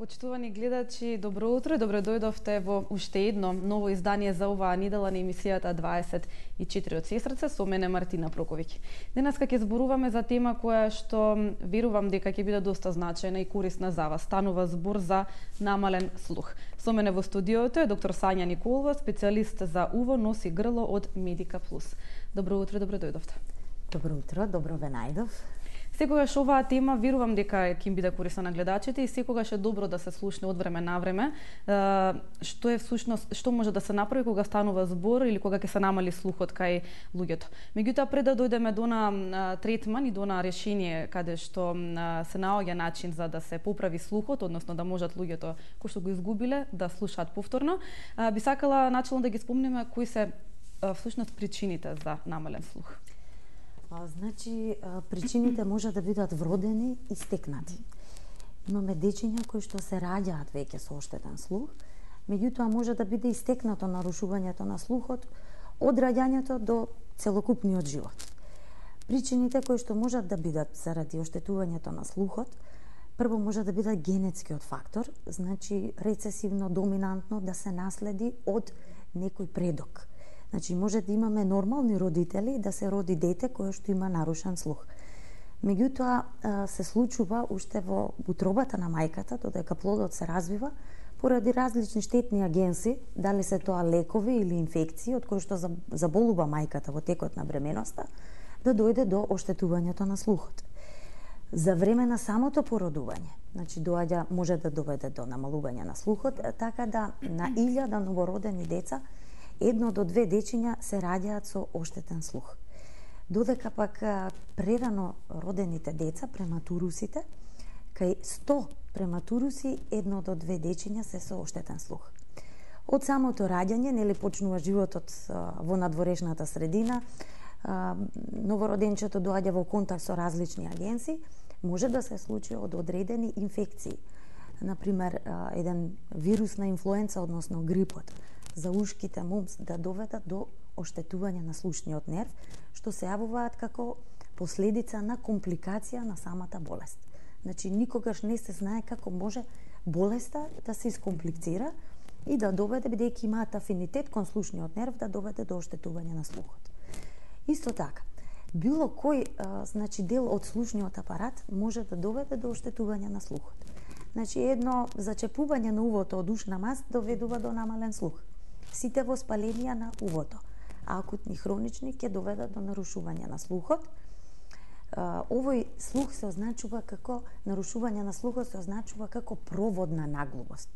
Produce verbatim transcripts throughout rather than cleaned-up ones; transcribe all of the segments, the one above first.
Почитувани гледачи, добро утро и добро дојдовте во уште едно ново издание за оваа недела на емисијата дваесет и четири од Сестрце со мене Мартина Проковиќ. Денеска ќе зборуваме за тема која што верувам дека ќе биде доста значајна и корисна за вас. Станува збор за намален слух. Со мене во студиото е доктор Сања Николова, специјалист за уво, нос и грло од Медика Плюс. Добро утро, добро дојдовте. Добро утро, добро ве најдов. Секогаш оваа тема верувам дека ќе им биде корисна на гледачите и секогаш е добро да се слушне од време на време. Што е всушност, што може да се направи кога станува збор или кога ќе се намали слухот кај луѓето. Меѓутоа, пред да дојдеме до на третман и до на решение каде што се наоѓа начин за да се поправи слухот, односно да можат луѓето кои што го изгубиле да слушаат повторно, би сакала начелно да ги спомнеме кои се всушност причините за намален слух. А, значи, причините може да бидат вродени и стекнати. Имаме дечиња кои што се раѓаат веќе со оштетен слух, меѓутоа може да биде и стекнато нарушувањето на слухот од раѓањето до целокупниот живот. Причините кои што можат да бидат заради оштетувањето на слухот, прво може да биде генетскиот фактор, значи рецесивно доминантно да се наследи од некој предок. Значи, може да имаме нормални родители да се роди дете кое што има нарушен слух. Меѓутоа, се случува уште во утробата на мајката, додека плодот се развива, поради различни штетни агенси, дали се тоа лекови или инфекции, од кои што заболува мајката во текот на бременоста, да дојде до оштетувањето на слухот. За време на самото породување, значи доаѓа, може да доведе до намалување на слухот, така да на илјада новородени деца едно до две дечиња се раѓаат со оштетен слух. Додека пак прерано родените деца, прематурусите, кај сто прематуруси едно до две дечиња се со оштетен слух. Од самото раѓање, нели почнува животот во надворешната средина, новороденчето доаѓа во контакт со различни агенси, може да се случи од одредени инфекции. Например, еден вирус на инфлуенца, односно грипот, за ушките мумс да доведат до оштетување на слушниот нерв, што се јавуваат како последица на компликација на самата болест. Значи, никогаш не се знае како може болеста да се искомплицира и да доведе, бидејќи имаат афинитет кон слушниот нерв, да доведе до оштетување на слухот. Исто така, било кој а, значи, дел од слушниот апарат може да доведе до оштетување на слухот. Значи, едно зачепување на увото од ушна маст доведува до намален слух. Сите воспаленија на увото, акутни, хронични, ќе доведат до нарушување на слухот. Овој слух се означува како, нарушување на слухот се означува како проводна наглувост,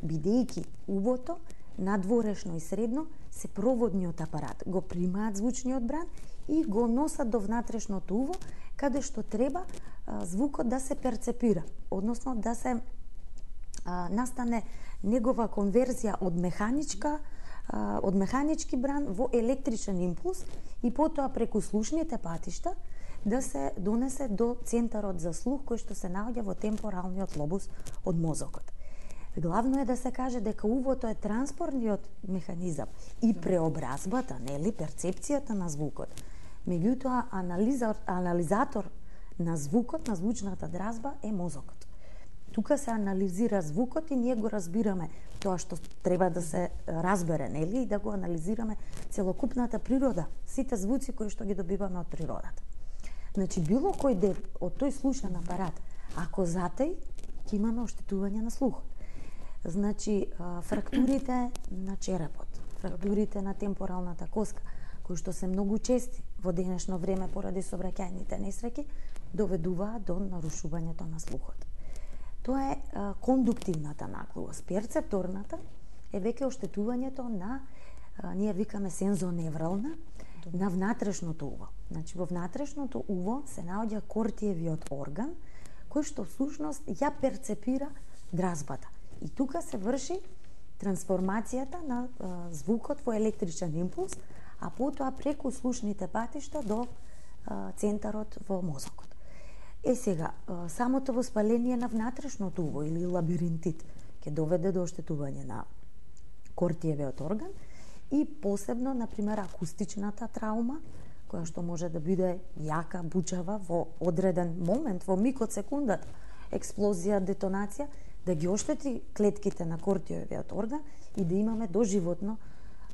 бидејќи увото, надворешно и средно, се проводниот апарат. Го примаат звучниот бран и го носат до внатрешното уво, каде што треба а, звукот да се перцепира, односно да се а, настане негова конверзија од механичка од механички бран во електричен импулс и потоа преку слушните патишта да се донесе до центарот за слух кој што се наоѓа во темпоралниот лобус од мозокот. Главно е да се каже дека увото е транспортниот механизам и преобразбата, нели, перцепцијата на звукот. Меѓутоа, анализатор, анализатор на звукот, на звучната дразба е мозокот. Тука се анализира звукот и ние го разбираме тоа што треба да се разбере, нели, и да го анализираме целокупната природа, сите звуци кои што ги добиваме од природата. Значи, било кој дел од тој слушен апарат, ако затај, ќе имаме оштетување на слухот. Значи, фрактурите на черепот, фрактурите на темпоралната коска, кои што се многу чести во денешно време поради сообраќајните несреќи, доведуваат до нарушувањето на слухот. Тоа е а, кондуктивната наглувост. Перцепторната е веќе оштетувањето на, а, ние викаме сензоневрална, на внатрешното уво. Значи, во внатрешното уво се наоѓа кортиевиот орган, кој што всушност ја перцепира дразбата. И тука се врши трансформацијата на а, звукот во електричен импулс, а потоа преку слушните патишта до а, центарот во мозокот. Е сега, самото воспаление на внатрешното уво или лабиринтит ќе доведе до оштетување на кортиевиот орган и посебно, например, акустичната траума, која што може да биде јака, бучава во одреден момент, во миг од секундата, експлозија, детонација, да ги оштети клетките на кортиовиот орган и да имаме доживотно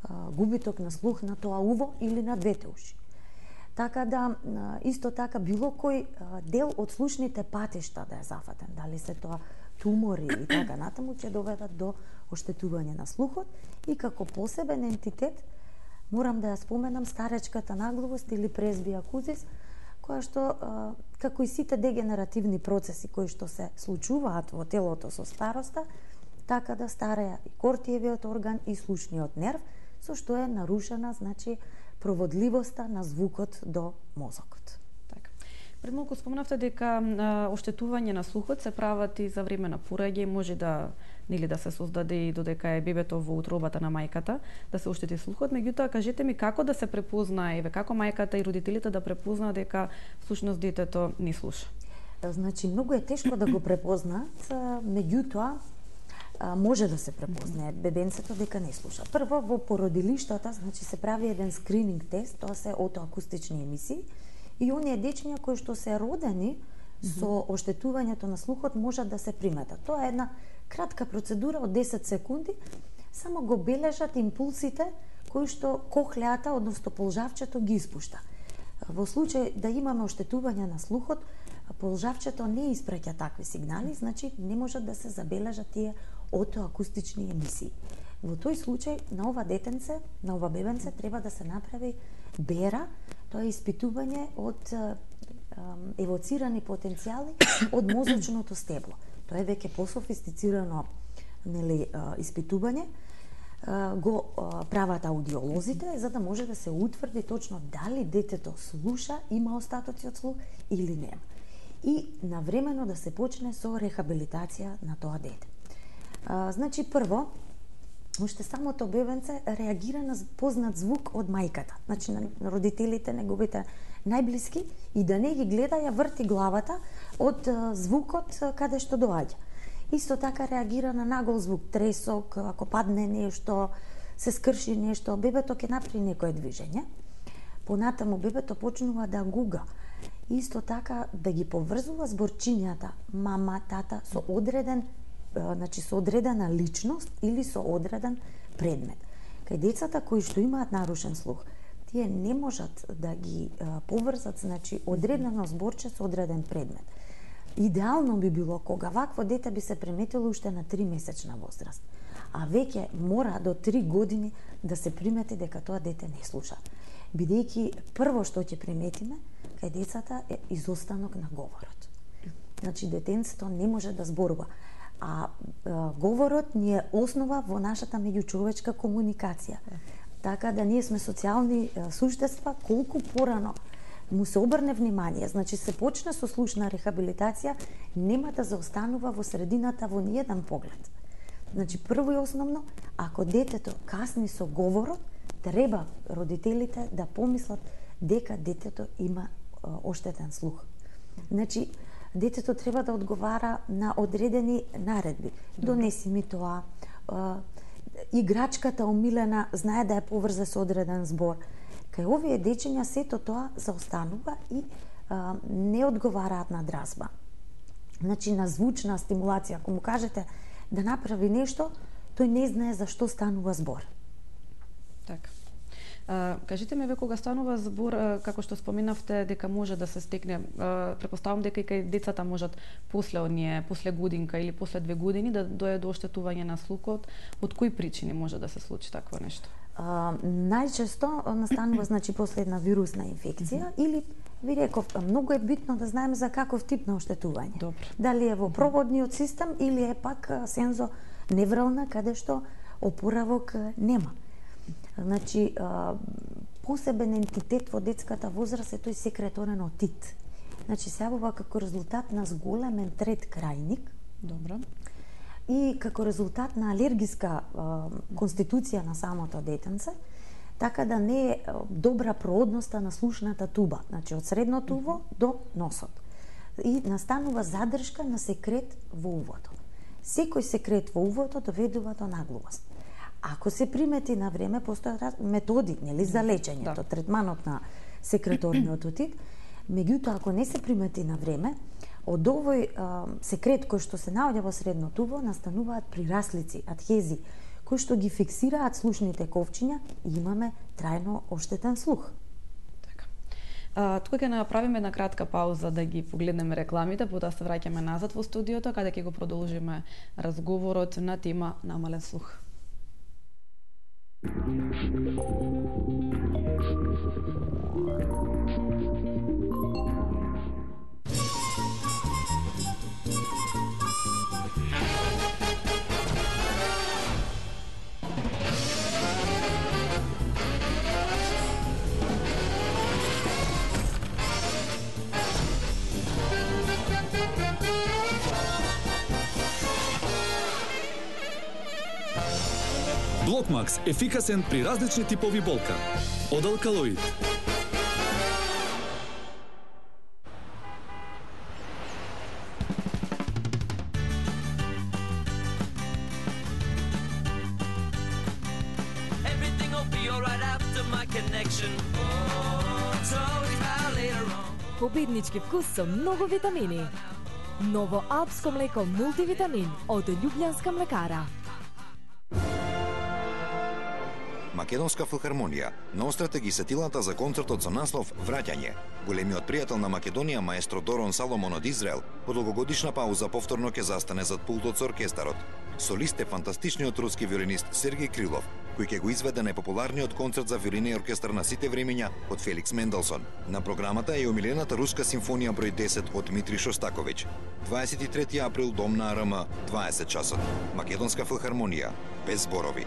а, губиток на слух на тоа уво или на двете уши. Така да, исто така, било кој дел од слушните патишта да е зафатен, дали се тоа тумори и така натаму, ќе доведат до оштетување на слухот. И како посебен ентитет, морам да ја споменам старечката наглавост или презбија акузис, која што, како и сите дегенеративни процеси кои што се случуваат во телото со староста, така да стареја и кортиевиот орган и слушниот нерв, со што е нарушена, значи, проводливоста на звукот до мозокот. Така. Пред малку спомнавте дека а, оштетување на слухот се прават и за време на пораѓање, може да нели да се создаде и додека е бебето во утробата на мајката, да се оштети слухот. Меѓутоа, кажете ми како да се препознае, еве како мајката и родителите да препознаат дека всушност детето не слуша? Значи, многу е тешко да го препознаат, меѓутоа може да се препознае бебенцето дека не слуша. Прво, во породилиштата, значи се прави еден скрининг тест, тоа се отоакустични емисии, и оние дечиња кои што се родени со оштетувањето на слухот можат да се приметат. Тоа е една кратка процедура од десет секунди, само го бележат импулсите кои што кохлеата, односно полжавчето, ги испушта. Во случај да имаме оштетување на слухот, полжавчето не испраќа такви сигнали, значи не можат да се забележат тие отоакустични емисии. Во тој случај на ова детенце, на ова бебенце треба да се направи бера, тоа е испитување од евоцирани потенцијали од мозочното стебло. Тоа е веќе пософистицирано, нели, испитување. Го прават аудиолозите за да може да се утврди точно дали детето слуша, има остатоци од слух или нема. И навремено да се почне со рехабилитација на тоа дете. А, значи, прво, уште самото бебенце реагира на познат звук од мајката. Значи, на родителите, неговите најблиски, и да не ги гледа, ја врти главата од звукот каде што доаѓа. Исто така реагира на нагол звук, тресок, ако падне нешто, се скрши нешто, бебето ќе направи некое движење. Понатаму бебето почнува да гуга. Исто така да ги поврзува зборчињата мама, тата со одреден, значи со одредена личност или со одреден предмет. Кај децата кои што имаат нарушен слух, тие не можат да ги поврзат, значи, одредено зборче со одреден предмет. Идеално би било кога вакво дете би се приметило уште на три месечна возраст, а веќе мора до три години да се примети дека тоа дете не слуша. Бидејќи прво што ќе приметиме кај децата е изостанок на говорот. Значи, детенцето не може да зборува, а, а говорот ни е основа во нашата меѓучовечка комуникација. Така да ние сме социјални суштества, колку порано му се обрне внимание, значи се почне со слушна рехабилитација, нема да заостанува во средината во ниеден поглед. Значи, прво и основно, ако детето касни со говорот, треба родителите да помислат дека детето има оштетен слух. Значи, детето треба да одговара на одредени наредби. Донеси ми тоа, играчката омилена знае да ја поврзе со одреден збор. Кај овие дечиња сето тоа заостанува и а, не одговараат на дразба. Значи, на звучна стимулација, ако му кажете да направи нешто, тој не знае за што станува збор. Така. А, кажете ми, ве кога станува збор, а, како што споменавте, дека може да се стекне, а, препоставам дека и кај децата можат после оние, после годинка или после две години да дое до оштетување на слухот, од кои причини може да се случи такво нешто? Uh, најчесто настанува, значи, после една вирусна инфекција, mm -hmm. или, ви реков, многу е битно да знаеме за каков тип на оштетување. Добре. Дали е во проводниот систем или е пак сензо неврална, каде што опоравок нема. Значи, uh, посебен ентитет во детската возраст е тој секреторен отит. Значи, се јавува како резултат на зголемен трет крајник. Добро. И како резултат на алергиска а, конституција на самото детенце, така да не е добра проодноста на слушната туба, значи од средното уво до носот. И настанува задршка на секрет во увото. Секој секрет во увото доведува до наглувост. Ако се примети на време, постојат методи, нели, за лечењето, да. Третманот на секреторниот отит, меѓутоа ако не се примети на време, од овој а, секрет кој што се наоѓа во средното уво настануваат прираслици, адхези, кои што ги фиксираат слушните ковчиња и имаме трајно оштетен слух. Така. А, тука ќе направиме една кратка пауза да ги погледнеме рекламите, потоа се враќаме назад во студиото каде ќе го продолжиме разговорот на тема намален слух. Блокмакс ефикасен при различни типови болка. Од алкалоид. Победнички вкус со многу витамини. Ново алпско млеко мултивитамин од Љубљанска млекара. Македонска филхармонија наострете ги сетилата за концертот со наслов Враќање. Големиот пријател на Македонија, маестро Дорон Саломон од Израел, по долгогодишна пауза повторно ќе застане зад пултот со оркестарот. Солист е фантастичниот руски виолинист Сергеј Крилов, кој ќе го изведе најпопуларниот концерт за виолина и оркестар на сите времиња од Феликс Менделсон. На програмата е и омилената руска симфонија број десет од Дмитрий Шостаковиќ. дваесет и трети април, Дом на АРМ, дваесет часот. Македонска филхармонија, без зборови.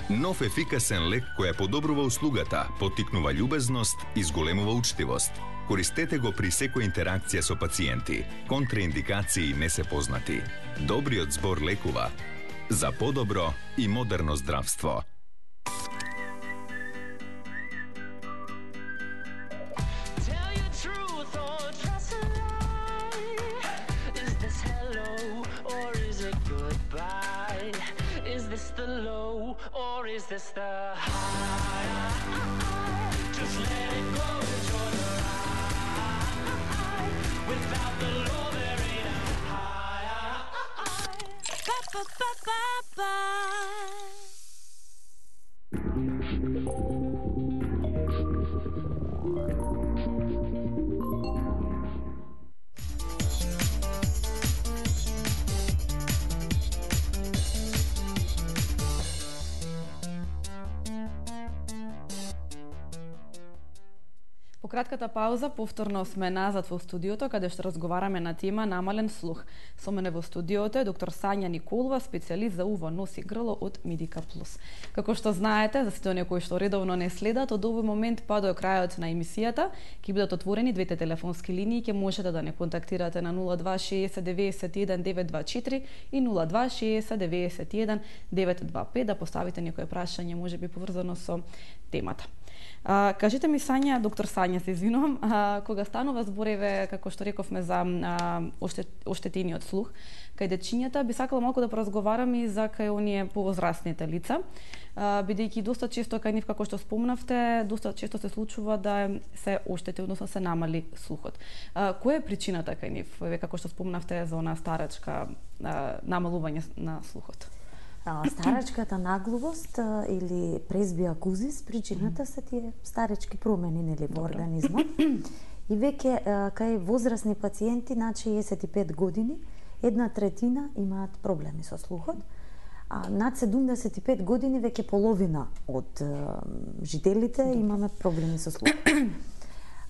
Нов ефикасен лек кој ја подобрува услугата, поттикнува љубезност и зголемува учтивост. Користете го при секоја интеракција со пациенти. Контраиндикации не се познати. Добриот збор лекува. За подобро и модерно здравство. Or is this the high? Just let it go, enjoy the ride. Without the law there ain't a high. Ba ba ba ba ba. По кратката пауза повторно сме назад во студиото каде што разговараме на тема намален слух. Со мене во студиото е доктор Сања Николова, специјалист за уво, нос и грло од Медика Плюс. Како што знаете, за сите оние кои што редовно не следат, од овој момент па до крајот на емисијата ќе бидат отворени двете телефонски линии, ќе можете да не контактирате на нула два шеесет деветдесет и еден девет два четири и нула два шеесет деветдесет и еден девет два пет да поставите некое прашање можеби поврзано со темата. А, кажете ми, Сања, доктор Сања, се извинувам, а, кога станува збореве, како што рековме, за а, оштет, оштетениот слух, кај дечињата, би сакала малку да поразговарам и за кај оние повозрастните лица, а, бидејќи доста често кај нив, како што спомнавте, доста често се случува да се оштети, односно се намали слухот. А, која е причината кај нив? Ве како што спомнавте за она старачка а, намалување на слухот? Старачката наглувост или презбиакузис, причината се тие старечки промени нели во организмот. И веќе кај возрастни пациенти над шеесет и пет години, една третина имаат проблеми со слухот, а над седумдесет и пет години веќе половина од жителите имаме проблеми со слухот.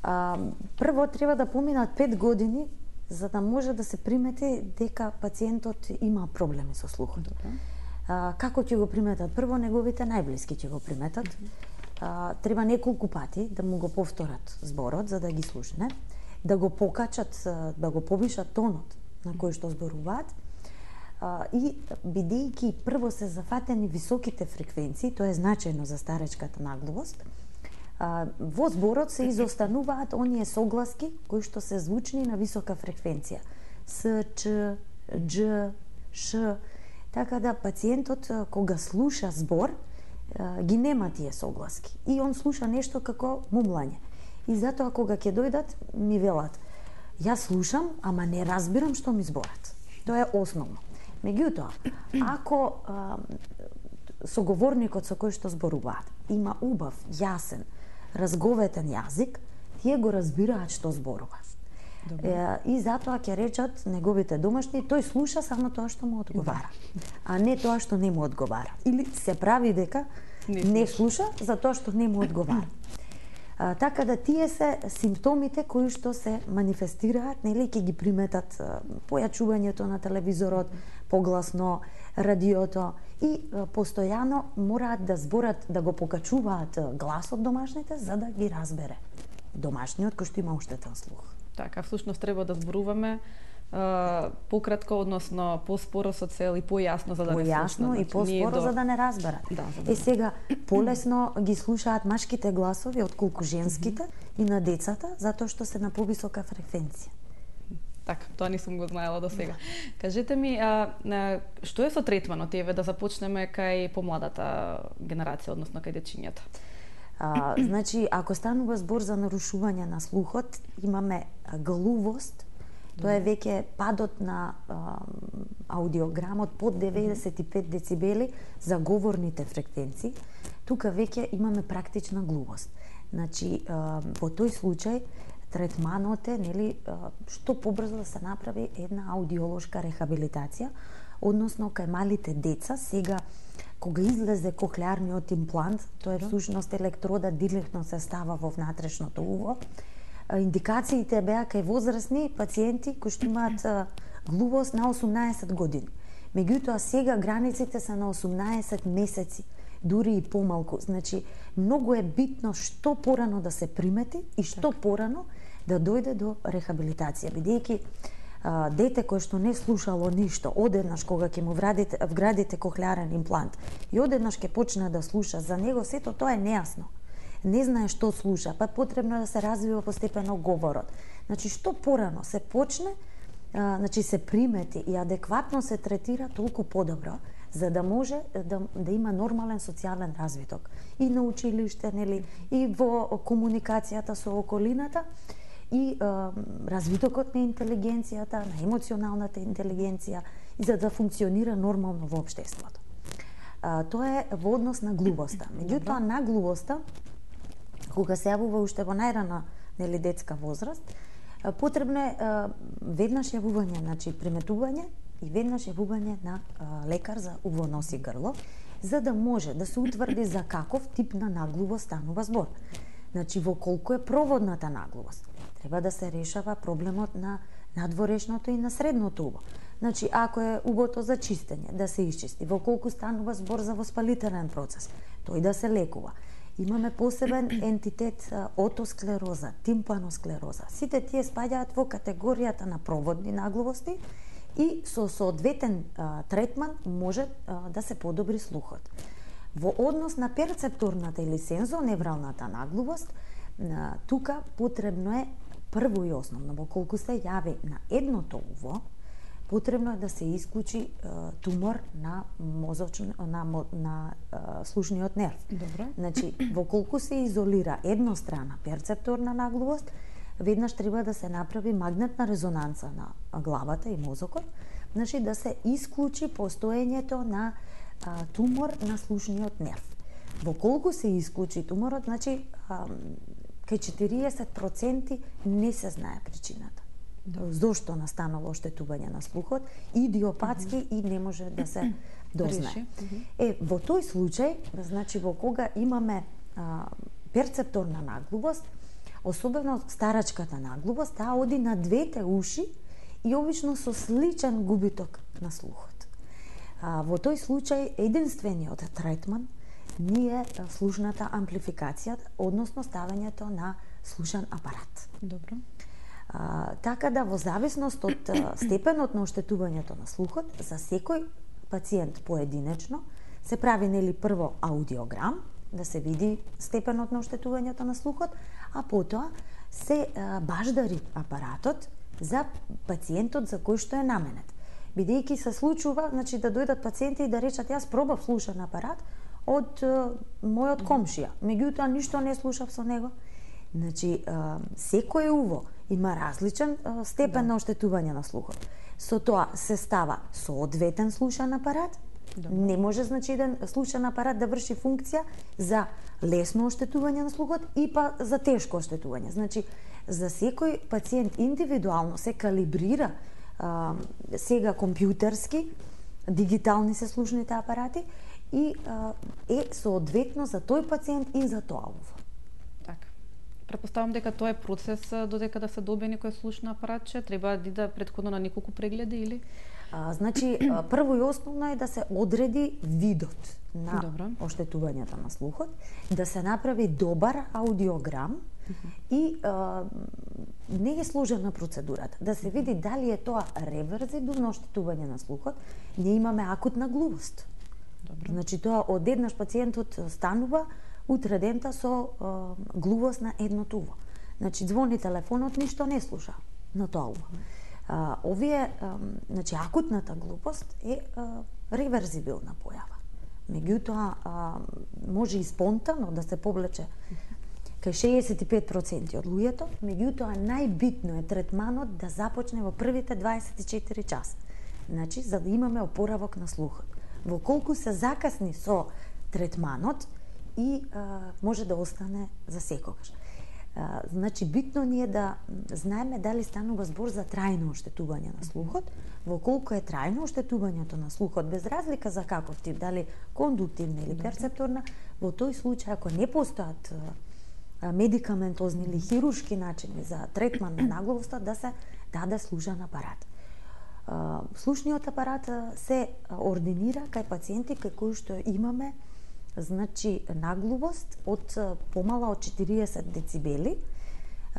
Прво треба да поминат пет години за да може да се примети дека пациентот има проблеми со слухот. А, како ќе го приметат? Прво, неговите најблиски ќе го приметат. А, треба неколку пати да му го повторат зборот за да ги слушне, да го покачат, да го повишат тонот на кој што зборуваат. А, и бидејќи прво се зафатени високите фреквенции, тоа е значајно за старечката наглувост, а, во зборот се изостануваат оние согласки кои што се звучни на висока фреквенција. С, Ч, Дж, Ш. Така да пациентот кога слуша збор ги нема тие согласки и он слуша нешто како мумлање. И затоа кога ќе дојдат, ми велат, јас слушам, ама не разбирам што ми зборат. Тоа е основно. Меѓутоа, ако а, соговорникот со кој што зборуваат има убав, јасен, разговетен јазик, тие го разбираат што зборува. Е, и затоа ќе речат неговите домашни, тој слуша само тоа што му одговара, а не тоа што не му одговара. Или се прави дека не, не слуша за тоа што не му одговара. А, така да тие се симптомите кои што се манифестираат, нели, ќе ги приметат а, појачувањето на телевизорот, погласно радиото и а, постојано мораат да зборат, да го покачуваат гласот домашните за да ги разбере домашниот кој што има оштетен слух. Така, всушност треба да зборуваме Uh, пократко, односно поспоро со цел и појасно за да не слушнат. Појасно и поспоро до... за да не разберат. Да, за да... Е сега полесно ги слушаат машките гласови отколку женските mm -hmm. и на децата затоа што се на повисока фреквенција. Така, тоа не сум го знаела до сега. Да. Кажете ми, а, а, што е со третманот, еве да започнеме кај помладата генерација, односно кај дечињата? А, значи, ако станува збор за нарушување на слухот, имаме глувост. Тоа е веќе падот на а, аудиограмот под деветдесет и пет децибели за говорните фреквенции. Тука веќе имаме практична глувост. Значи, а, во тој случај третманот е, нели, а, што побрзо да се направи една аудиолошка рехабилитација, односно кај малите деца сега кога излезе кохлеарниот имплант, тоа е всушност електрода директно се става во внатрешното уво. Индикациите беа кај возрастни пациенти кои што имаат глувост на осумнаесет години. Меѓутоа сега границите се на осумнаесет месеци, дури и помалку. Значи, многу е битно што порано да се примети и што порано да дојде до рехабилитација, бидејќи а, дете кое што не слушало ништо, одеднаш кога ќе му вградите, вградите кохлеарен имплант и одеднаш ќе почне да слуша, за него сето тоа е нејасно. Не знае што слуша, па потребно е да се развива постепено говорот. Значи, што порано се почне, а, значи се примети и адекватно се третира, толку подобро, за да може да, да има нормален социјален развиток. И на училиште, нели, и во комуникацијата со околината, и а, развитокот на интелигенцијата, на емоционалната интелигенција, и за да функционира нормално во општеството. А, тоа е во однос на глувоста. Меѓутоа, на глувоста, кога се јавува уште во најрана, нели, детска возраст, потребно е а, веднаш јавување, значи приметување и веднаш јавување на а, лекар за уво, нос и грло, за да може да се утврди за каков тип на наглувост станува збор. Значи, во колку е проводната наглувост. Треба да се решава проблемот на надворешното и на средното уво. Значи, ако е убото за чистење, да се исчисти. Во колку станува збор за воспалителен процес, тој да се лекува. Имаме посебен ентитет отосклероза, тимпаносклероза. Сите тие спаѓаат во категоријата на проводни наглувости и со соодветен а, третман може а, да се подобри слухот. Во однос на перцепторната или сензоневралната наглувост, а, тука потребно е прво и основно, во колку се јави на едното уво, потребно е да се исклучи е, тумор на мозочен на на е, слушниот нерв. Добро. Значи, во колку се изолира еднострана перцепторна наглувост, веднаш треба да се направи магнетна резонанца на главата и мозокот, значи да се исклучи постоењето на а, тумор на слушниот нерв. Во колку се исклучи туморот, значи а, кај четириесет проценти не се знае причината. Да. Зошто настанало оштетување на слухот, идиопатски mm -hmm. и не може да се дознае. Mm -hmm. Е, во тој случај, значи во кога имаме а, перцепторна наглувост, особено старачката наглувост, таа оди на двете уши и обично со сличен губиток на слухот. А, во тој случај единствениот третман ние слушната амплификација, односно ставањето на слушен апарат. Добро. А, така да во зависност од а, степенот на оштетувањето на слухот, за секој пациент поединечно се прави, нели, прво аудиограм, да се види степенот на оштетувањето на слухот, а потоа се а, баждари апаратот за пациентот за кој што е наменет. Бидејќи се случува, значи, да дојдат пациенти и да речат јас пробав слушен апарат од а, мојот комшија, меѓутоа ништо не слушав со него. Значи, а, секој уво има различен а, степен да. на оштетување на слухот. Со тоа се става соодветен слушен апарат. Добре. Не може, значи, еден слушен апарат да врши функција за лесно оштетување на слухот и па за тешко оштетување. Значи, за секој пациент индивидуално се калибрира а, сега компјутерски, дигитални се слушните апарати и а, е соодветно за тој пациент и за тоа уво. Така. Претпоставам дека тоа е процес додека да се добие некој слушно апаратче, треба да иде претходно на неколку прегледи или? А, значи, прво и основно е да се одреди видот на Добро. оштетувањето на слухот, да се направи добар аудиограм uh -huh. и а, не е сложена процедурата, да се види дали е тоа реверзибилно оштетување на слухот. Ние имаме акутна глувост. Добро. Значи, тоа одеднаш пациентот станува утредента со а, глувост на едното уво. Значи, звони телефонот, ништо не слуша на тоа уво. А, овие, а, значи, акутната глупост е а, реверзибилна појава. Меѓутоа, а, може и спонтано да се повлече кај шеесет и пет проценти од луѓето, меѓутоа најбитно е третманот да започне во првите дваесет и четири часа. Значи, за да имаме опоравок на слухот. Во колку се закасни со третманот и а, може да остане за секогаш. А, значи, битно ни е да знаеме дали станува збор за трајно оштетување на слухот, во колку е трајно оштетувањето на слухот, без разлика за каков тип, дали кондуктивна или перцепторна, во тој случај, ако не постојат а, медикаментозни или хируршки начини за третман на нагловоста, да се даде слушен апарат. А, слушниот апарат се ординира кај пациенти кај кои што имаме, значи, наглувост од помала од четириесет децибели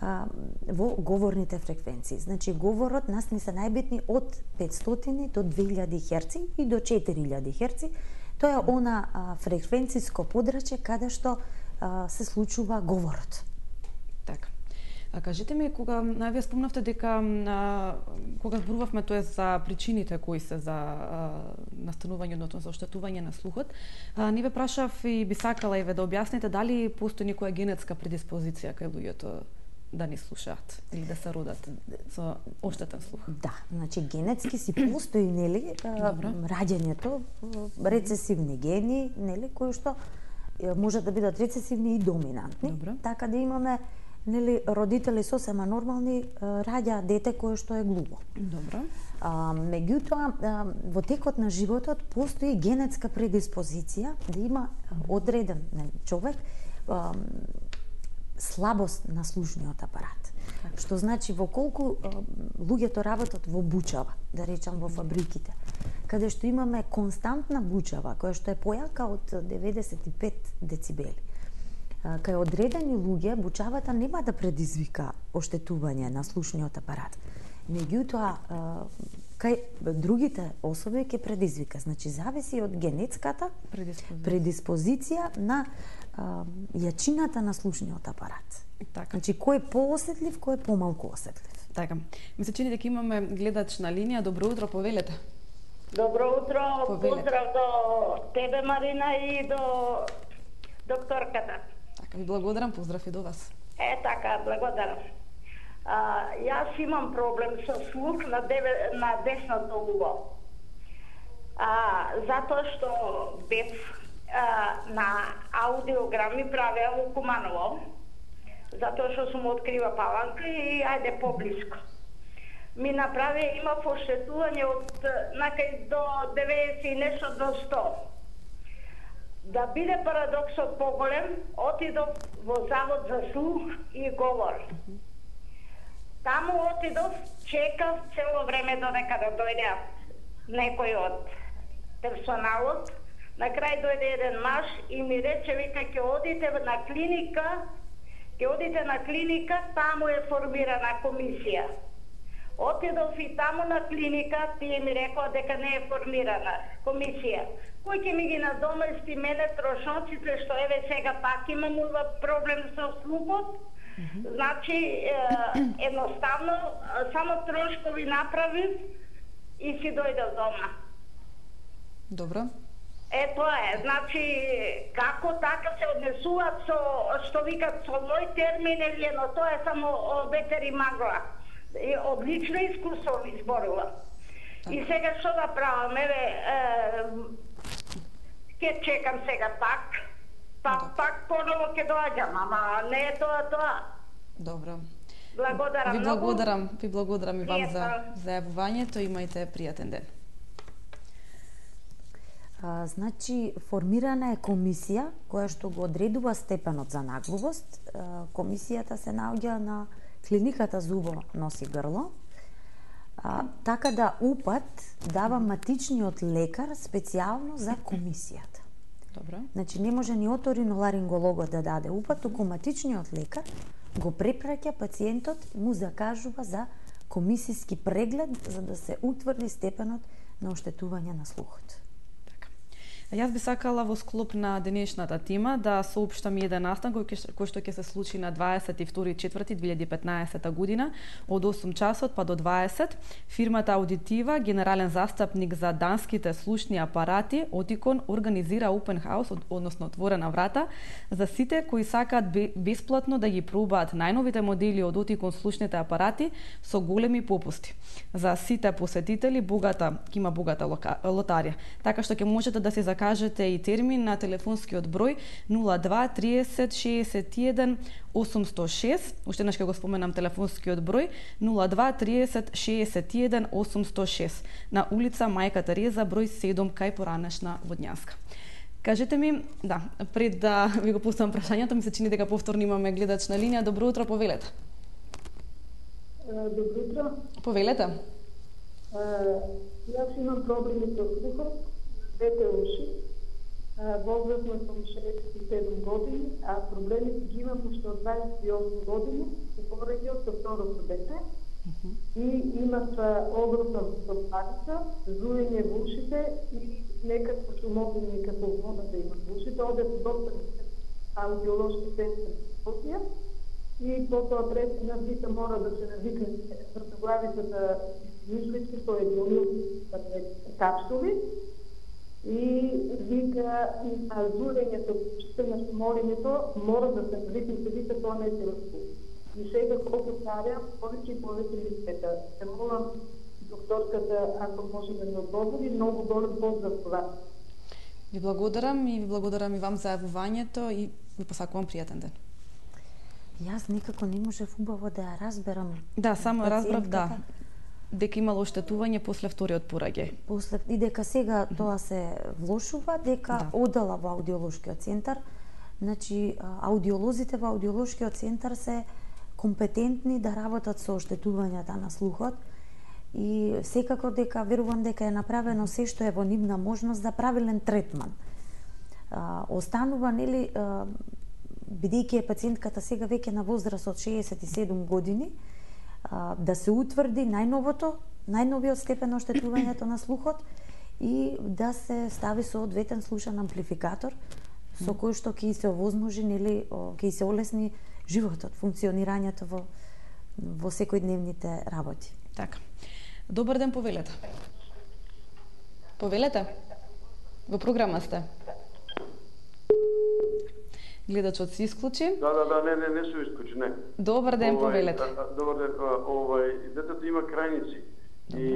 а, во говорните фреквенции. Значи, говорот нас ни се најбитни од петстотини до две илјади херци и до четири илјади херци. Тоа е она а, фреквенциско подрачје каде што а, се случува говорот. Така. А кажете ми, кога а, вие спомнавте дека а, кога зборувавме тоа за причините кои се за а, настанување, односно за оштетување на слухот, а, не ве прашав и би сакала и ве да објасните дали постои некоја генетска предиспозиција кај луѓето да не слушаат или да се родат со оштетен слух. Да, значи генетски си постои, нели, раѓањето, рецесивни гени, нели, кои што може да бидат рецесивни и доминантни. Добро. Така да имаме, нели, родители сосема нормални раѓа дете кое што е глуво. Добро. А, меѓутоа, а, во текот на животот постои генетска предиспозиција да има одреден, нели, човек а, слабост на слушниот апарат. Така. Што значи во колку а, луѓето работат во бучава, да речам во фабриките, каде што имаме константна бучава која што е појака од деветдесет и пет децибели. А, кај одредени луѓе бучавата нема да предизвика оштетување на слушниот апарат. Меѓутоа, кај другите особи ќе предизвика. Значи, зависи од генетската Предиспозиција. предиспозиција на а, јачината на слушниот апарат. Така. Значи, кој е поосетлив, кој е помалку осетлив. Така. Ми се чини дека имаме гледач на линија. Добро утро, повелете. Добро утро, Повелете. поздрав до тебе, Марина, и до докторката. Така, ви благодарам, поздрав и до вас. Е, така, благодарам. А, јас имам проблем со слух на, деве, на десното уво. А, затоа што бев а, на аудиограми правеа во Куманово, затоа што сум открива Паланка и ајде поблиско. Ми направи, има оштетување од накај до деветдесет и нешто до сто. Да биде парадоксот поголем, отидов во Завод за слух и говор. Таму отидов, чекав цело време додека да дојде некој од персоналот. На крај дојде еден маж и ми рече, вика, ќе одите на клиника, ќе одите на клиника, таму е формирана комисија. Отидов и таму на клиника, тие ми рекоа дека не е формирана комисија. Кој ќе ми ги надомести мене трошоците, што еве сега пак имам проблем со слухот? Значи, е, едноставно, само трошкови направив и си дојдев дома. Добро. Е, тоа е. Значи, како така се однесуваат со, што викат, со мој термин или но тоа е само ветер и магла. И одлично искуство ми зборува. И сега што да правам? Еве, ќе чекам сега пак, па пак поново ќе доаѓам, ама не е тоа тоа. Добро. Благодарам Ви многу. благодарам, ви благодарам и вам за Пријатно. зајавувањето. Имајте пријатен ден. А, значи, формирана е комисија која што го одредува степенот за наглувост. А, комисијата се наоѓа на клиниката Зубо носи грло. А, така да УПАТ дава матичниот лекар специјално за комисијата. Добро. Значи, не може ни оториноларингологот да даде УПАТ, туку матичниот лекар го препраќа пациентот, му закажува за комисиски преглед за да се утврди степенот на оштетување на слухот. Јас би сакала во склоп на денешната тема да соопштам еден настан кој, кој што ќе се случи на дваесет и втори четврти две илјади и петнаесета година од осум часот па до дваесет. Фирмата Аудитива, генерален застапник за данските слушни апарати, Отикон, организира Open House, односно отворена врата, за сите кои сакаат бесплатно да ги пробаат најновите модели од Отикон слушните апарати со големи попусти. За сите посетители богата, има богата лотарија, така што ќе можете да се кажете и термин на телефонскиот број нула два триесет шеесет и еден осумстотини и шест. Уште еднаш ќе го споменам телефонскиот број нула два триесет шеесет и еден осумстотини и шест на улица Мајка Тереза број седум кај Поранешна Водњанска. Кажете ми, да, пред да ви го пустам прашањето, ми се чини дека повторно имаме гледач на линија. Добро утро, повелете. Добро утро. Повелете. Јас имам проблеми со слухот, двете уши. Возрастна сум шеесет и седум години, а проблемите ги имам уште од дваесет и осум години, и пораѓајќи со второто дете. И имав огромна стопаница, зуење во ушите и некако шумовини како вода да имам во ушите. Одев до доктор аудиолошки центар Скопје и потоа пресна вика мора да се навикне вртоглавицата мислички со еднолил капсули. И вика на зурењето, што на шумолењето, мора да се навикнете, вика тоа не се лесно. И сега колку старја, повеќе и повеќе ми света. Се молам докторката, ако може да ми одговори, многу голем поздрав това. Ви благодарам и ви благодарам и вам за јавувањето и ви посакувам пријатен ден. Јас никако не можев убаво да ја разберам. Да, само разбрав, да. Дека имало оштетување после вториот пораѓај. После и дека сега тоа се влошува, дека Да. одела во аудиолошкиот центар. Значи, аудиолозите во аудиолошкиот центар се компетентни да работат со оштетувањата на слухот и секако дека верувам дека е направено се што е во нивна можност за правилен третман. А, останува, нели, а, бидејќи е пациентката сега веќе на возраст од шеесет и седум години, а, да се утврди најновото, најновиот степен на оштетувањето на слухот и да се стави соодветен слушан амплификатор со кој што ќе се овозможи, нели, ќе се олесни животот, функционирањето во во секојдневните работи. Така. Добар ден, повелете. Повелете? Во програма сте. Гледачот се исклучи. Да, да, да, не, не, не се исклучи, не. Добар ден, Овај, повелете. а, а, Добар ден, а, овај, детето има крајници. И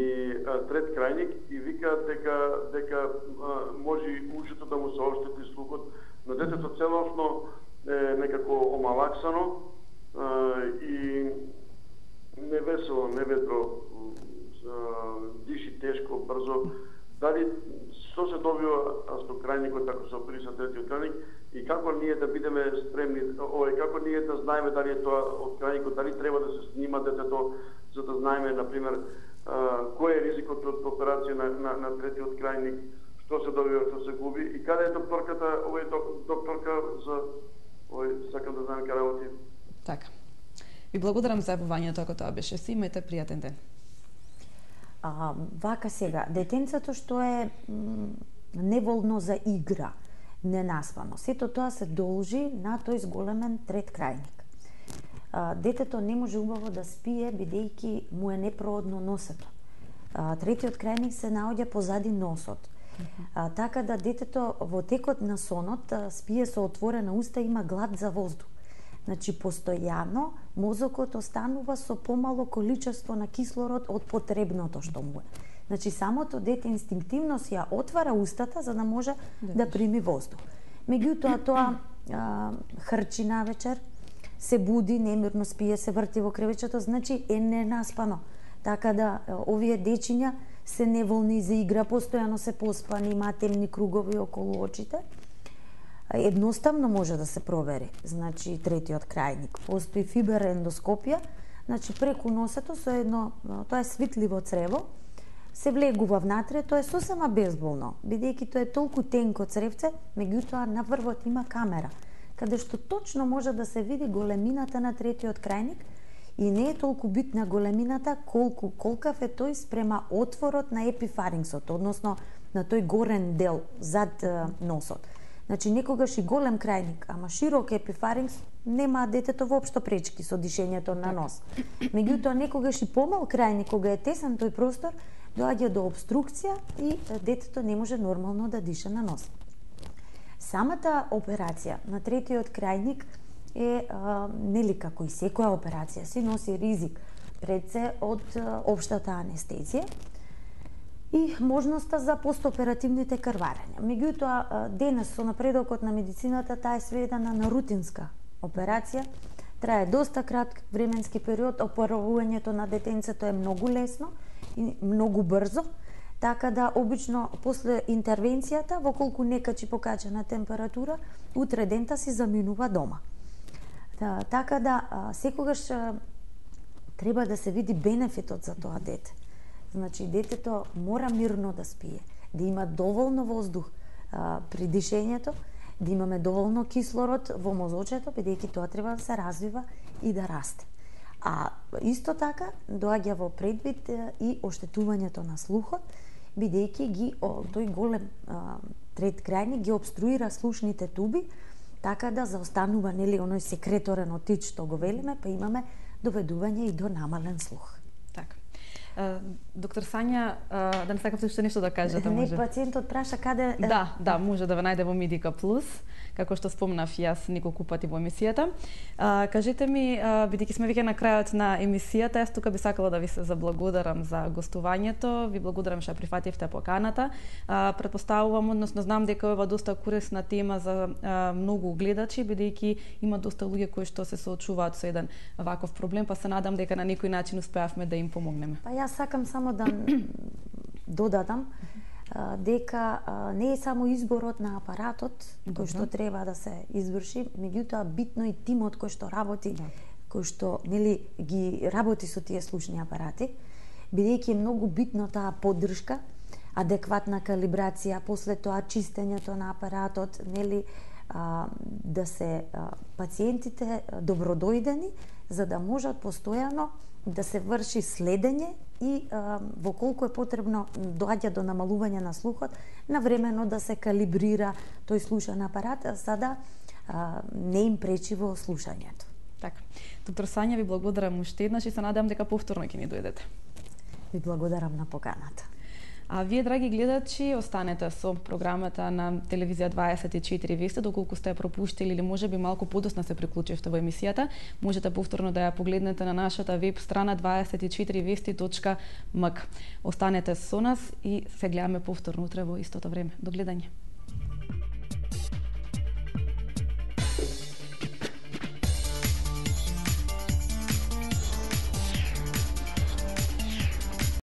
а, трет крајник и вика дека дека а, може ушето да му се оштети слухот, но детето целосно е некако омалаксано а, и невесело, неветро, а, диши тешко, брзо. Дали што се добива со крајникот, ако се опириса третиот крајник и како ние да бидеме спремни, овој како ние да знаеме дали е тоа од крајникот, дали треба да се снима детето за да знаеме на пример кој е ризикот од операција на, на, на третиот крајник, што се добива, што се губи и каде е докторката, овој докторка за овој сакам да знам каде работи. Така. Ви благодарам за јавувањето, ако тоа беше си, имајте пријатен ден. А, вака сега, детенцето што е м, неволно за игра, ненаспано, сето тоа се должи на тој зголемен трет крајник. А, детето не може убаво да спие бидејќи му е непроодно носето. А, третиот крајник се наоѓа позади носот А, така да детето во текот на сонот а, спие со отворена уста, има глад за воздух. Значи, постојано мозокот останува со помало количество на кислород од потребното што му е. Значи, самото дете инстинктивно си ја отвара устата за да може да, да прими воздух. Меѓутоа, тоа а, хрчи на вечер, се буди, немирно спие, се врти во кревечето, значи е ненаспано. Така да, овие дечиња се неволни за игра, постојано се поспани, има темни кругови околу очите. Едноставно може да се провери. Значи, третиот крајник. Постои фиберендоскопија, значи преку носето со едно, тоа е свитливо црево, се влегува внатре, тоа е сосема безболно, бидејќи тоа е толку тенко цревце, меѓутоа на врвот има камера, каде што точно може да се види големината на третиот крајник и не е толку битна големината колку колкав е тој спрема отворот на епифарингсот, односно на тој горен дел зад е, носот. Значи, некогаш и голем крајник, ама широк епифарингс, нема детето воопшто пречки со дишењето на нос. Меѓутоа, некогаш и помал крајник, кога е тесен тој простор, доаѓа до обструкција и детето не може нормално да диша на нос. Самата операција на третиот крајник е, а, нели како и секоја операција, си носи ризик пред се од а, општата анестезија и можноста за постоперативните крварења. Меѓутоа, денес со напредокот на медицината, таа е сведена на рутинска операција, трае доста краток временски период, оперувањето на детенцето е многу лесно и многу брзо, така да обично после интервенцијата, во колку не качи покачена температура, утре дента си заминува дома. Та, така да секогаш треба да се види бенефитот за тоа дете. Значи, детето мора мирно да спие, да има доволно воздух а, при дишењето, да имаме доволно кислород во мозочето, бидејќи тоа треба да се развива и да расте. А исто така доаѓа во предвид и оштетувањето на слухот, бидејќи ги о, тој голем а, трет крајник ги обструира слушните туби, така да заостанува, нели, оној секреторен отич што го велиме, па имаме доведување и до намален слух. Така. Доктор Сања, да не сакавте уште нешто да кажете, не, може? Не, пациентот праша каде... Да, да, може да ве најде во Медика Плюс, како што спомнав јас неколку пати во емисијата. А, кажете ми, бидејќи сме веќе на крајот на емисијата, јас тука би сакала да ви се заблагодарам за гостувањето, ви благодарам што прифативте поканата. А, претпоставувам, односно знам дека ова доста корисна тема за а, многу гледачи, бидејќи има доста луѓе кои што се соочуваат со еден ваков проблем, па се надам дека на некој начин успеавме да им помогнеме. Па јас сакам само да додадам дека не е само изборот на апаратот кој што треба да се изврши, меѓутоа битно и тимот кој што работи, да. кој што нели ги работи со тие слушни апарати, бидејќи е многу битно таа поддршка, адекватна калибрација, после тоа чистењето на апаратот, нели да се пациентите добродојдени, за да можат постојано да се врши следење и а, во колку е потребно доаѓа до намалување на слухот, навремено да се калибрира тој слушан апарат, за да а, не им пречи во слушањето. Така. Доктор Сања, ви благодарам уште еднаш и се надевам дека повторно ќе ни дојдете. Ви благодарам на поканата. А вие, драги гледачи, останете со програмата на телевизија дваесет и четири вести, доколку сте ја пропуштили или можеби малку подоцна се приклучивте во емисијата, можете повторно да ја погледнете на нашата веб страна дваесет и четири вести точка ем ка. Останете со нас и се гледаме повторно утре во истото време. До гледање.